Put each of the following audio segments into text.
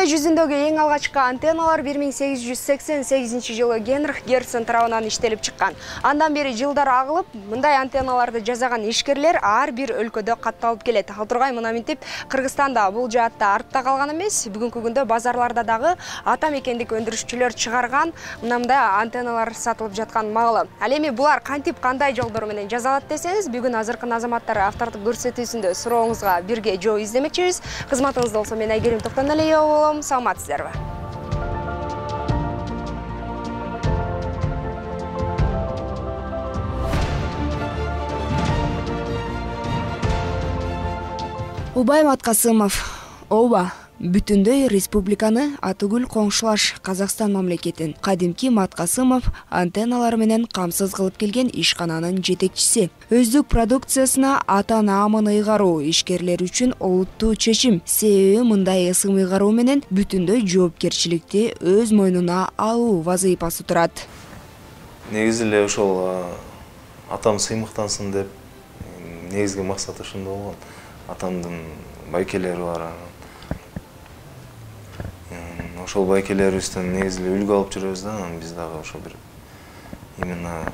Дүйнө жүзүндөгү эң алгачкы антенналар 1888-жылы Генрих Герцен тарабынан иштелип чыккан. Андан бери жылдар агылып, мындай антенналарды жасаган ишкерлер ар бир өлкөдө катталып келет. Ал тургай мына мынтип Кыргызстанда бул жаатта артта калган эмес. Бүгүнкү күндө базарларда дагы ата мекендик өндүрүшчүлөр чыгарган мындай антенналар сатылып жаткан маалы. Ал эми булар кантип кандай жолдор менен жасалат десеңиз, бүгүн азыркы азаматтар автордук көрсөтүүсүндө сурооңузга бирге жоо издемекчибиз. Кызматыңызда болсо мен Айгерим Токтоналиева болом. Саламатсыздарбы? Убай Маткасымов, ооба, бүтүндөй республиканы атыгүл коңшулаш Казакстан мамлекетин кадимки Маткасымов антенналар менен камсыз кылып келген ишкананын жетекчиси. Өздүк продукциясына ата-наамын ыйгаруу ишкерлер үчүн олуттуу чечим. Себеби мындай ысым ыйгаруу менен бүтүндөй жоопкерчиликти өз мойнуна алуу вазыйпасы турат. Негизи эле ошол атам сыймыктансын деп негизги максат ошондо болгон. Атамдын байкелери бар. Ошол байкелерибизден негизи эле үлгү алып жүрөбүз да, анан биз дагы ошо бир именно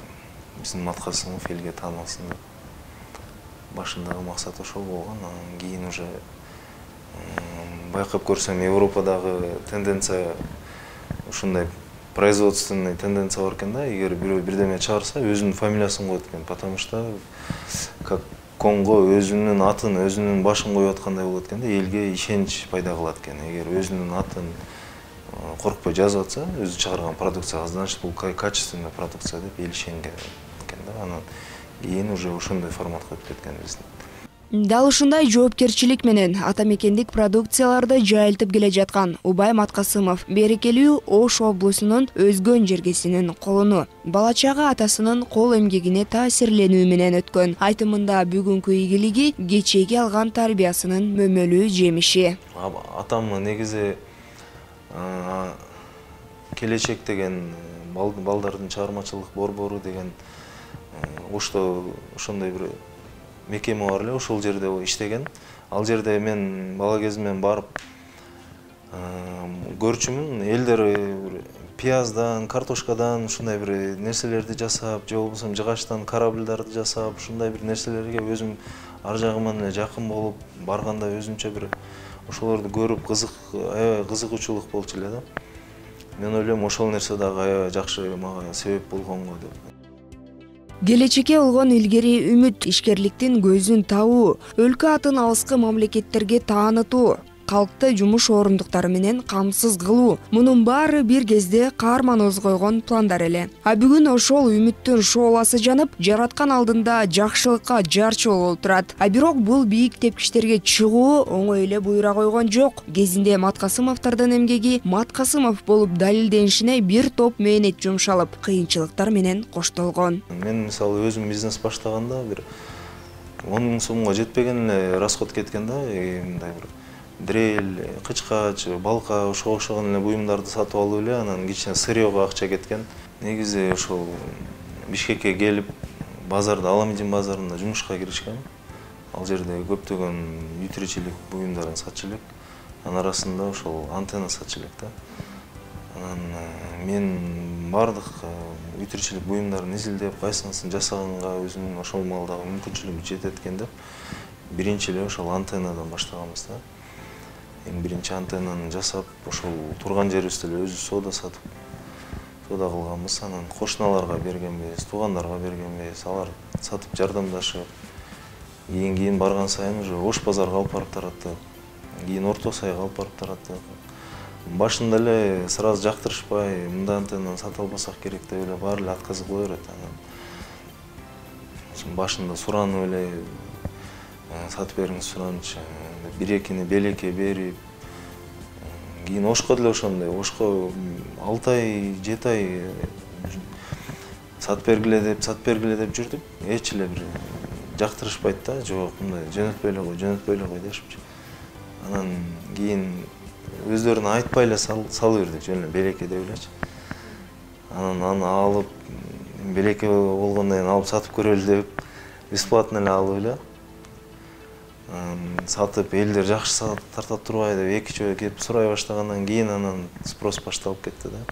биздин Маткасымов элге таанылсын деп. Башындагы максат ошол болгон. Анан кийин уже байкап көрсөм Европадагы тенденция ушундай производственный тенденция бар экен да. Эгер бирөө бирдеме чыгарса, өзүнүн фамилиясын коет экен, потому что как Конго өзүнүн атын, өзүнүн башын коюп аткандай болот экен да, элге ишенич пайда кылат экен. Эгер өзүнүн атын коркпой жазып атса, өзү чыгарган продукцияга, значит бул качественный продукция деп эл ишенген экен да. Анан кийин уже ошондой форматка өтүп кеткен биздин. Дал ушундай жоопкерчилик менен ата мекендик продукцияларды жайылтып келе жаткан Убай Маткасымов берекелүү Ош облусунун Өзгөн жергесинин колуну. Бала чагы атасынын кол эмгегине таасирленүү менен өткөн. Айтымында бүгүнкү ийгилиги кечеги алган тарбиясынын мөмөлүү жемиши. Атам негизи келечек деген балдардын чыгармачылык борбору деген Ошто ошондой бир мекеме бар эле, ошол жерде иштеген. Ал жерде мен бала кезимден барып көрчүмүн. Элдер пияздан, картошкадан ушундай бир нерселерди жасап, же болбосо жыгачтан корабльдарды жасап, ушундай бир нерселерге өзүм ар жагыман эле жакын болуп, барганда өзүмчө бир ошолорду көрүп аябай кызыгуучулук болчу эле да. Мен ойлойм, ошол нерсе дагы аябай жакшы мага себеп болгонго деп. Келечекке болгон илгери үмүт, ишкерликтин көзүн табуу, өлкө атын алыскы мамлекеттерге таанытуу, калкты жумуш орундуктары менен камсыз кылуу. Мунун баары бир кезде каарман койгон пландар эле. А бүгүн ошол үмүттүн шооласы жанып, жараткан алдында жакшылыкка жарчыл болуп турат. А бирок бул бийик тепкичтерге чыгуу оңой эле буйра койгон жок. Кезинде Маткасымовдордун эмгеги Маткасымов болуп далилденишине бир топ мээнет жумшалып, кыйынчылыктар менен коштолгон. Мен мисалы өзүм бизнес баштаганда бир 10 000 сомго жетпеген эле расход кеткен да, мындай бир дрель, кычкач, балка, ошого окшогон эле буюмдарды сатып алып эле, анан кичине сырьёго акча кеткен. Негизи ошол Бишкекке келип, базарда, Аламедин базарында жумушка киришкем. Ал жерде көптөгөн үй тиричилик буюмдарын сатчу элек. Анын арасында ошол антенна сатчу элек да. Анан мен бардык үй тиричилик буюмдарын изилдеп, кайсынысын жасаганга өзүмдүн ошол маалдагы мүмкүнчүлүгүм жетет экен деп, биринчи эле ошол антеннадан баштаганбыз да. Эң биринчи антеннаны жасап, ошол турган жерибизде эле өзүбүз соода сатып, соода кылганбыз. Анан кошуналарга бергенбиз, туугандарга бергенбиз, алар сатып жардамдашып, кийин барган сайын уже Ош базарга алып барып тараттык. Кийин Орто Сайга алып барып тараттык. Башында эле сразу жактырышпай, мындай антеннаны сата албасак керек деп эле баары эле отказ кыла берет. Анан башында суранып эле сатып бериңиз суранчы, 1-2 белекке берип, кийин Ошко деле ошондой. Ошко 6 ай, 7 ай сатып бергиле деп жүрдүк. Эч эле бир жактырышпайт да, жок, мындай жөнөтпөй эле кой дешипчи. Анан кийин өздөрүнө айтпай эле салып бердик, жөн эле белекке деп элечи. Анан аны алып, белекке болгондон кийин алып сатып көрөлү деп, бесплатно эле алып эле. сатып элдер жакшы тартат турбайбы деп эки жолу келип сурай баштагандан кийин анан спрос башталып кетти да.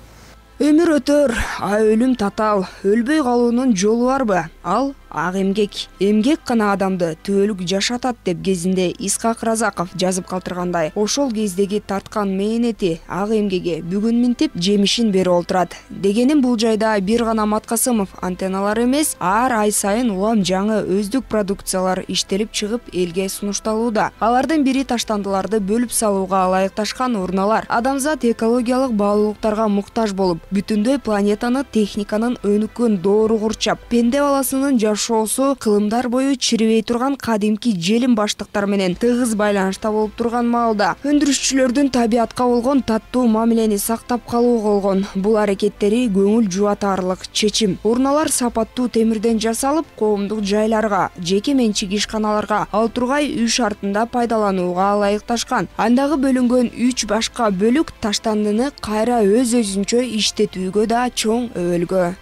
Өмүр өтөр, а өлүм татаал. Өлбөй калуунун жолу барбы? Ал ак эмгек. Эмгек гана адамды түбөлүк жашатат деп кезинде Исхак Разаков жазып калтыргандай, ошол кездеги тарткан мээнети, ак эмгеги бүгүн минтип жемишин берип олтурат. Дегеним бул жайда бир гана Маткасымов антенналар эмес, ар ай сайын улам жаңы өздүк продукциялар иштелип чыгып элге сунушталууда. Алардын бири таштандыларды бөлүп салууга ылайыкташкан урналар. Адамзат экологиялык баалуулуктарга муктаж болуп, бүтүндөй планетаны техниканын өнүккөн доору курчап, пенде баласынын жашоосу кылымдар бою чирибей турган кадимки желим баштыктар менен тыгыз байланышта болуп турган маалда өндүрүшчүлөрдүн табиатка болгон таттуу мамилени сактап калуу болгон бул аракеттери көңүл жубатарлык чечим. Урналар сапаттуу темирден жасалып, коомдук жайларга, жеке менчик ишканаларга, ал тургай үй шартында пайдаланууга ылайыкташкан. Андагы бөлүнгөн 3 башка бөлүк таштандыны кайра өз-өзүнчө иштетүүгө да чоң өбөлгө.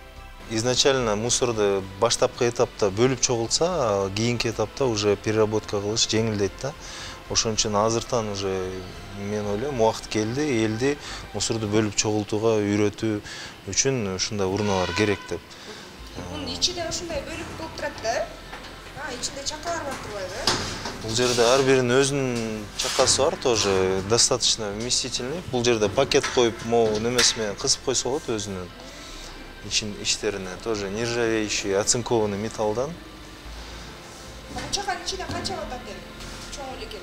Изначально мусорду баштапкы этапта бөлүп чогултса, кийинки этапта уже переработка кылыш жеңилдейт да. Ошон үчүн азыртан уже мен ойлойм, убакыт келди, элди мусорду бөлүп чогултууга үйрөтүү үчүн ушундай урналар керек деп. Мунун ичинде ушундай бөлүк болуп турат да. Ичинде чакалар бар турбайбы? Бул жерде ар биринин өзүнүн чакасы бар, тоже достаточно вместительный. Бул жерде пакет коюп, могу немеси менен кысып койсо болот өзүнүн иштерине. Тоже нержавеющий, оцинкованный металлдан. Бул чаканын ичинде канча батат эми? Чоң эле экен.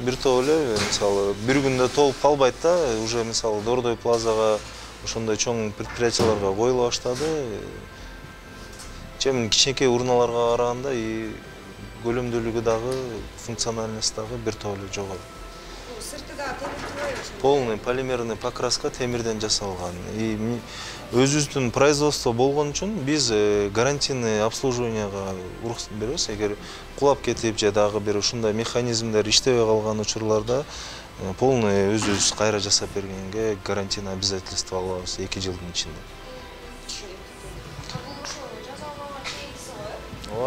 Бир топ эле, мисалы, бир күндө толуп калбайт да, уже мисалы Дордой плазага, ошондой чоң предприятияларга коюла баштады. Чемин кичинекей урналарга караганда көлөмдүүлүгү дагы, функциональность дагы бир топ эле жогору. Сырты да темир турбайбы? Полный полимерный покраска темирден жасалган. Өзүбүздүн производство болгон үчүн биз гарантийный обслуживанияга уруксат беребиз. Эгер кулап кетип же дагы бир ушундай механизмдер иштебей калган учурларда полный өзүбүз кайра жасап бергенге гарантийный обязательство алабыз 2 жылдын ичинде.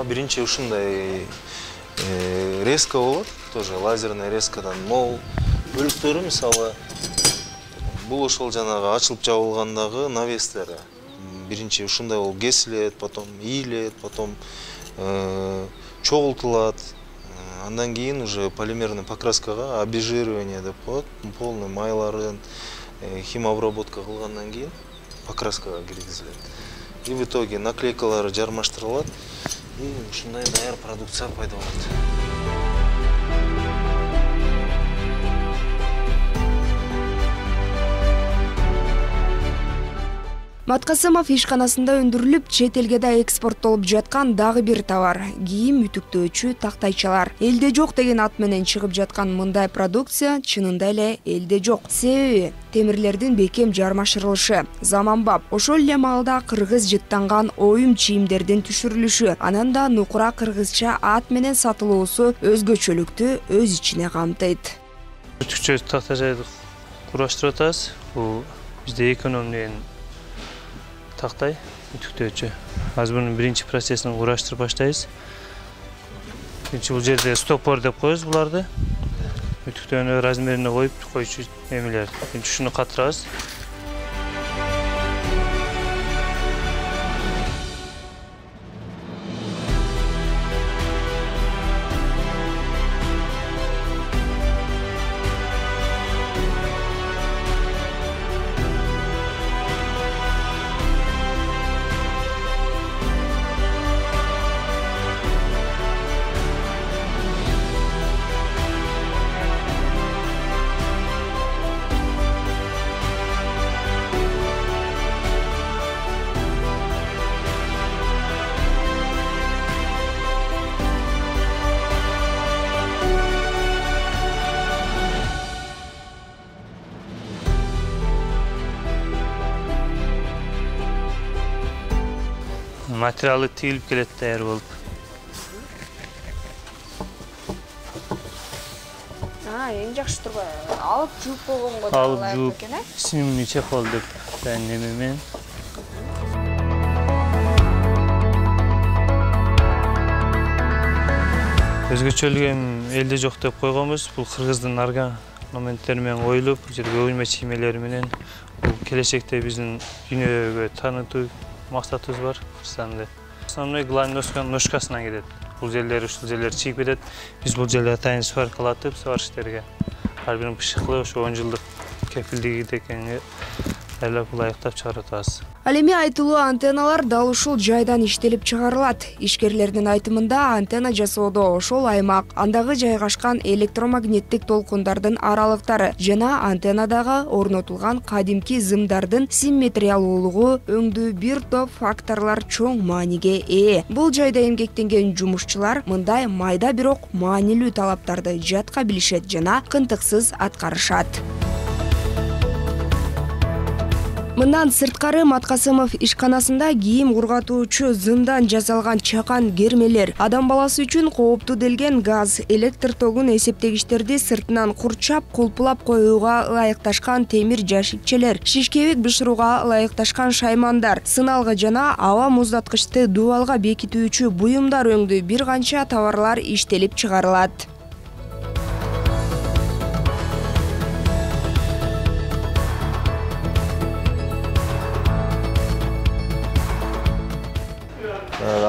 Биринчи ушундай резка болот, тоже лазерный резкадан. Могу бөлүктөрү мисалы бул ошол жанагы ачылып жабылгандагы навестер. Биринчи ушундай болуп кесилет, потом ийилет, потом чогултулат. Андан кийин уже полимерный покраскага обезжиривание деп коет. Полный майларын химобработка кылгандан кийин покраскага киргизилет. И в итоге наклейкалары жармаштырылат. И ушундай даяр продукция пайда болот. Маткасымов ишканасында өндүрүлүп, чет элге да экспорттолуп жаткан дагы бир товар — кийим үтүктөөчү тактайчалар. Элде жок деген ат менен чыгып жаткан мындай продукция чынында эле элде жок. Себеби темирлердин бекем жармашырылышы, заманбап. Ошол эле маалда кыргыз жыттанган оюм чийимдердин түшүрүлүшү, анан да нукура кыргызча ат менен сатылуусу өзгөчөлүктү өз ичине камтыйт. Үтүкчө тактайчарды кураштырып атабыз. Бул бизде экономден тактай үтүктөөчү. Азыр мунун биринчи процессин кураштырып баштайбыз. Биринчи бул жерде стопор деп коебуз буларды. Үтүктөөнү размерине коюп койчу эмелер. Биринчи ушуну катырабыз. Материалы тигилип келет даяр болуп. Эң жакшы турбайбы? Алып жууп койгонго да Алып ылайыктуу жууп, экен, э? снимный чехол деп неме менен. Өзгөчөлүгү элде жок деп койгонбуз. Бул кыргыздын орнаменттери менен коюлуп, бул жерде көймө чиймелери менен бул келечекте биздин дүйнөгө таанытуу максатыбыз бар Кыргызстанды. Основной главный ножкасынан кетет. Бул жерлер, ушул жерлер чийип кетет. Биз бул жерде атайын сваркалатып, сварщиктерге ар бирин пышыкылы ошо 10 жылдык кепилдиги дегенге айлап ылайыктап чыгарып атабыз. Ал эми айтылуу антенналар дал ушул жайдан иштелип чыгарылат. Ишкерлердин айтымында антенна жасоодо ошол аймак, андагы жайгашкан электромагниттик толкундардын аралыктары жана антеннадагы орнотулган кадимки зымдардын симметриялуулугу өңдүү бир топ факторлор чоң мааниге ээ. Бул жайда эмгектенген жумушчулар мындай майда бирок маанилүү талаптарды жатка билишет жана кынтыксыз аткарышат. Мындан сырткары Маткасымов ишканасында кийим кургатуучу зымдан жасалган чакан кермелер, адам баласы үчүн кооптуу делген газ, электр тогун эсептегичтерди сыртынан курчап, кулпулап коюуга ылайыкташкан темир жашикчелер, шишкебек бышырууга ылайыкташкан шаймандар, сыналгы жана аба муздаткычты дубалга бекитүүчү буюмдар өңдүү бир канча товарлар иштелип чыгарылат.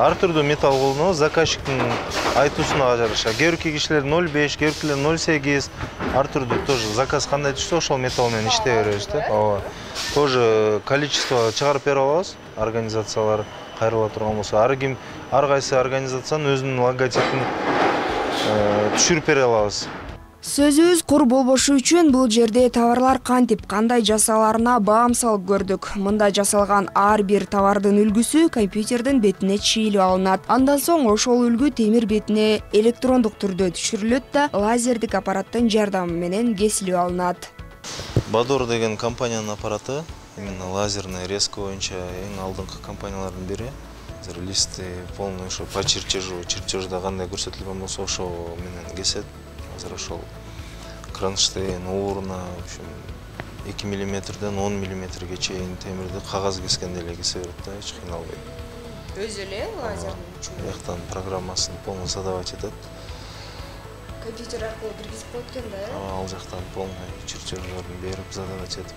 Ар түрдүү металл колдонобуз, заказчиктин айтуусуна жараша. Кээ бирки кишилер 0,5, кээ биркилер 0,8, ар түрдүү тоже заказ кандай түшсө ошол металл менен иштей беребиз да. Ооба. Тоже количество чыгарып бере алабыз. Организациялар кайрыла турган болсо, ар кайсы организациянын өзүнүн логотипин түшүрүп бере алабыз. Сөзүбүз кур болбошу үчүн бул жерде товарлар кантип, кандай жасаларына баам салып көрдүк. Мында жасалган ар бир товардын үлгүсү компьютердин бетине чийилип алынат. Андан соң ошол үлгү темир бетине электрондук түрдө түшүрүлөт да азердик аппараттын жардамы менен кесилип алынат. Бадор деген компаниянын аппараты, именно лазерный резко боюнча эң алдыңкы компаниялардын бири. Азыр листы полный ошо по чертежда кандай көрсөтүлгөн болсо ошо менен кесет. Азыр ошол кронштейн, ууруна 2 мм-ден 10 мм-ге чейин темирди кагаз кескенде эле кесе берет да, эч кыйналбай. Өзү эле лазердин күчү. Бияктан программасын полный задавать этет. Компьютер аркылуу киргизип коет экен да? Ал жактан полный чертеждерин берип задавать этип.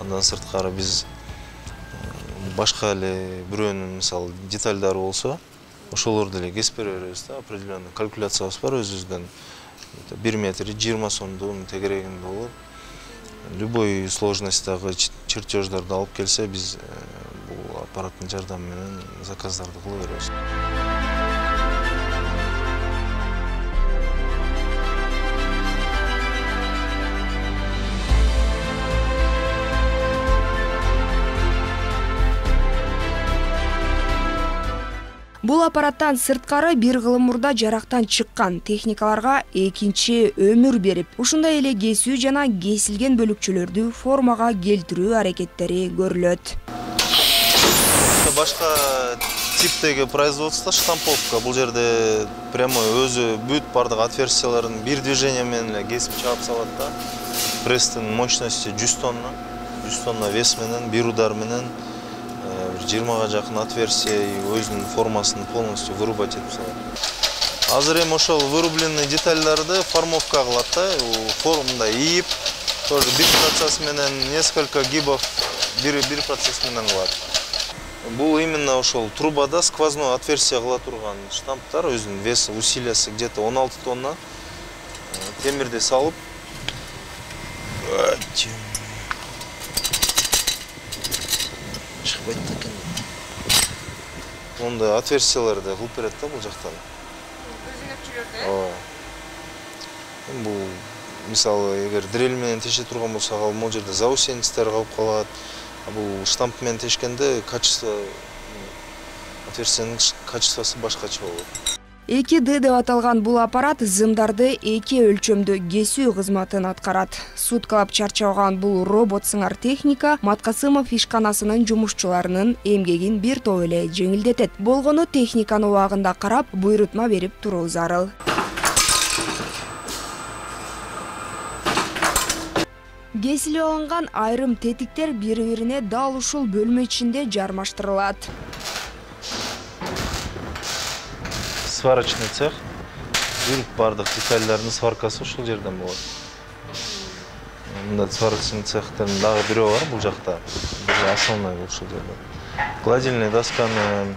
Андан сырткары биз башка эле бирөөнүн мисалы детальдары болсо, ошолорду эле кесип бере беребиз да, определенный калькуляциябыз бар өзүбүздөн. 1 метр 20 сомдун тегерегинде болот. Любой сложностьтагы чертеждарды алып келсе, биз бул аппараттын жардамы менен заказдарды кыла беребиз. Бул аппараттан сырткары бир кылым мурда жарактан чыккан техникаларга экинчи өмүр берип, ушундай эле кесүү жана кесилген бөлүкчөлөрдү формага келтирүү аракеттери көрүлөт. Башка типтеги производство штамповка. Бул жерде прямой өзү бүт бардык отверстияларын бир движение менен эле кесип чаап салат да. Пресстин мощности 100 тонна. 100 тонна вес менен, бир удар менен 20-га жакын отверстие өзүнүн формасын полностью вырубать этип салат. Азыр эми ошол вырубленный детальдарды формовка кылат да, формада ийип, тоже бир процесс менен несколько гибов бир процесс менен кылат. Бул именно ошол трубада сквозной отверстие кыла турган штамптар, өзүнүн веси, усилиясы где-то 16 тонна. Темирди салып, чыкпайт экен. Онда отверстияларды кылып берет да бул жактан. Өзүнөкчүлөрдү? Ооба. Бул мисалы эгер дрель менен теше турган болсо, ал могул жерде заусенецтер калып калат. Бул штамп менен тешкенде качество отверстиянын качествосу башкача болот. 2D деп аталган бул аппарат зымдарды 2 өлчөмдө кесүү кызматын аткарат. Суткалап чарчабаган бул робот сыңар техника Маткасымов ишканасынын жумушчуларынын эмгегин бир топ эле жеңилдетет. Болгону техниканы убагында карап, буйрутма берип туруу зарыл. Кесилип алынган айрым тетиктер бири-бирине дал ушул бөлмө ичинде жармаштырылат. Сварочный цех. Бүт бардык детальдардын сваркасы ушул жерден болот. Мында сварочный цехтердин дагы бирөө бар бул жакта. Бир основной ушул жерде. Гладильный досканын,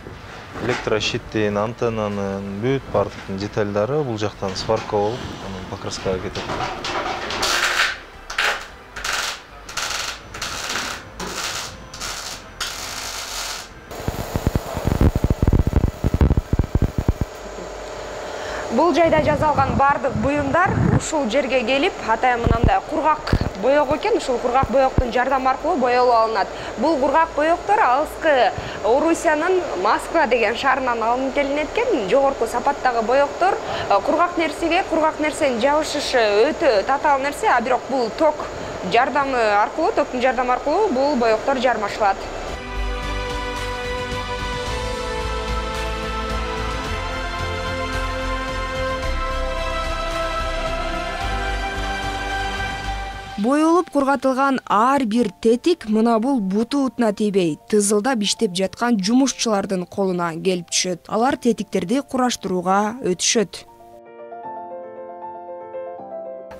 электрощиттин, антеннанын бүт бардык детальдары бул жактан сварка болуп, анан покраскага кетет. Бул жайда жасалган бардык буюмдар ушул жерге келип, атайын мындай кургак боек экен, ушул кургак боектун жардамы аркылуу боелуп алынат. Бул кургак боектор алыскы Орусиянын Москва деген шаарынан алынып келинет экен. Жогорку сапаттагы боектор кургак нерсенин жабышышы өтө татаал нерсе, а бирок бул токтун жардамы аркылуу бул боектор жармашылат. Боелуп кургатылган ар бир тетик мына бул буту утуна тийбей, тызылдап иштеп жаткан жумушчулардын колуна келип түшөт. Алар тетиктерди кураштырууга өтүшөт.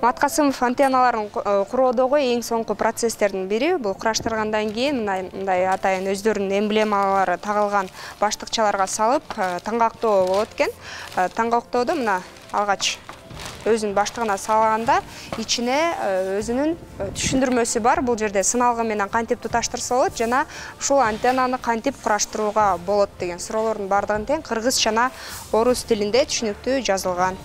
Маткасымов антенналарын куроодогу эң соңку процесстердин бири. Бул кураштыргандан кийин мындай атайын өздөрүнүн эмблемалары тагылган баштыкчаларга салып таңгактоо болот экен. Таңгактоодо мына алгач өзүнүн баштыгына салганда ичине өзүнүн түшүндүрмөсү бар. Бул жерде сыналгы менен кантип туташтырса болот жана ушул антеннаны кантип кураштырууга болот деген суроолордун бардыгын тең кыргыз жана орус тилинде түшүнүктүү жазылган.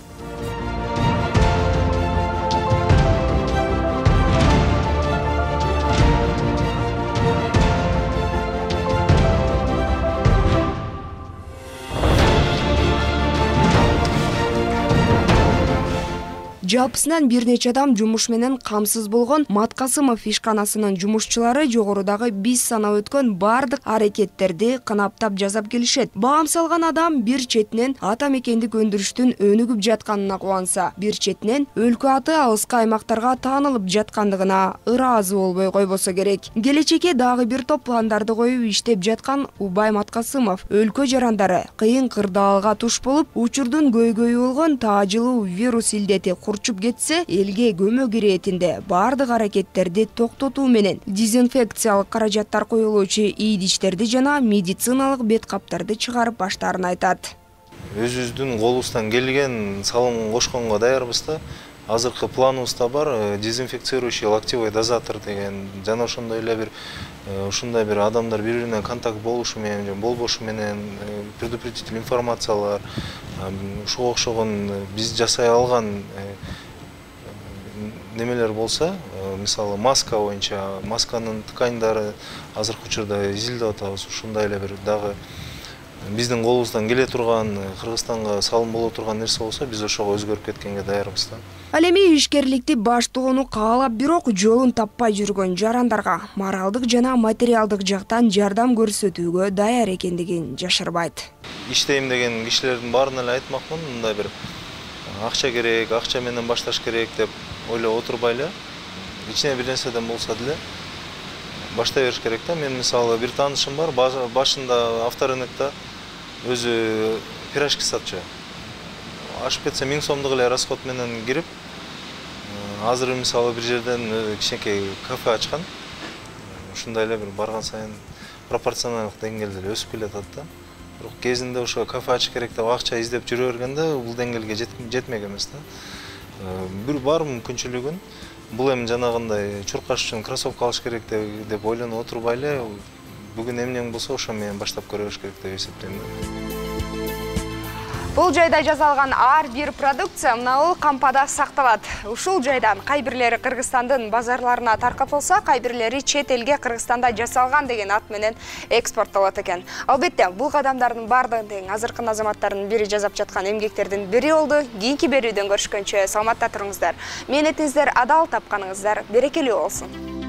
Жалпысынан бир нече адам жумуш менен камсыз болгон Маткасымов ишканасынын жумушчулары жогорудагы биз санап өткөн бардык аракеттерди кынаптап жасап келишет. Баам салган адам бир четинен ата мекендик өндүрүштүн өнүгүп жатканына кубанса, бир четинен өлкө аты алыскы аймактарга таанылып жаткандыгына ыраазы болбой койбосо керек. Келечекке дагы бир топ пландарды коюп иштеп жаткан Убай Маткасымов өлкө жарандары кыйын кырдаалга туш болуп, учурдун көйгөйү болгон таажылуу вирус илдети чуп кетсе, элге көмөк иретинде бардык аракеттерди токтотуу менен дезинфекциялык каражаттар коюлуучу ийдичтерди жана медициналык бет каптарды чыгарып баштаарын айтат. Өзүбүздүн колубуздан келген салым кошконго даярбыз да. Азыркы планыбызда бар дезинфицирующий локтевой дозатор деген жана ошондой эле ушундай бир адамдар бири-бирине контакт болушу менен же болбошу менен предупредительный информациялар ушуга окшогон биз жасай алган немелер болсо, мисалы маска боюнча, масканын тканьдары азыркы учурда изилдеп атабыз. Ушундай эле бир дагы биздин колубуздан келе турган, Кыргызстанга салым боло турган нерсе болсо, биз ошого өзгөрүп кеткенге даярбыз да. Ал эми ишкерликти баштоону каалап, бирок жолун таппай жүргөн жарандарга моралдык жана материалдык жактан жардам көрсөтүүгө даяр экендигин жашырбайт. Иштейм деген кишилердин баарына эле айтмакмын, мындай бир акча керек, акча менен башташ керек деп ойлоп отурбай эле, ичине бир нерседен болсо деле баштай бериш керек да. Мен мисалы бир таанышым бар, башында авторынокто өзү пирожки сатчу. Ашып кетсе 1000 сомдук эле расход менен кирип, азыр мисалы бир жерден кичинекей кафе ачкан. Ушундай эле бир барган сайын пропорционалдык деңгээлде өсүп келатат да. Бирок кезинде ошо кафе ачыш керек деп акча издеп жүрө бергенде бул деңгээлге жетмек эмес да. Бир бар мүмкүнчүлүгүн бул эми жанагындай чуркаш үчүн кроссовка алыш керек деп ойлонуп отурбай эле, бүгүн эмнең болсо ошо менен баштап көрүш керек деп эсептейм. Бул жайда жасалган ар бир продукция мына кампада сакталат. Ушул жайдан кай бирлери Кыргызстандын базарларына таркатылса, кай бирлери чет элге Кыргызстанда жасалган деген ат менен экспорттолот экен. Албетте, бул кадамдардын бардыгын тең азыркы азаматтардын бири жасап жаткан эмгектердин бири болду. Кийинки берүүдөн көрүшкөнчө саламатта туруңуздар. Мээнетиңиздер адал, тапканыңыздар берекелүү болсун.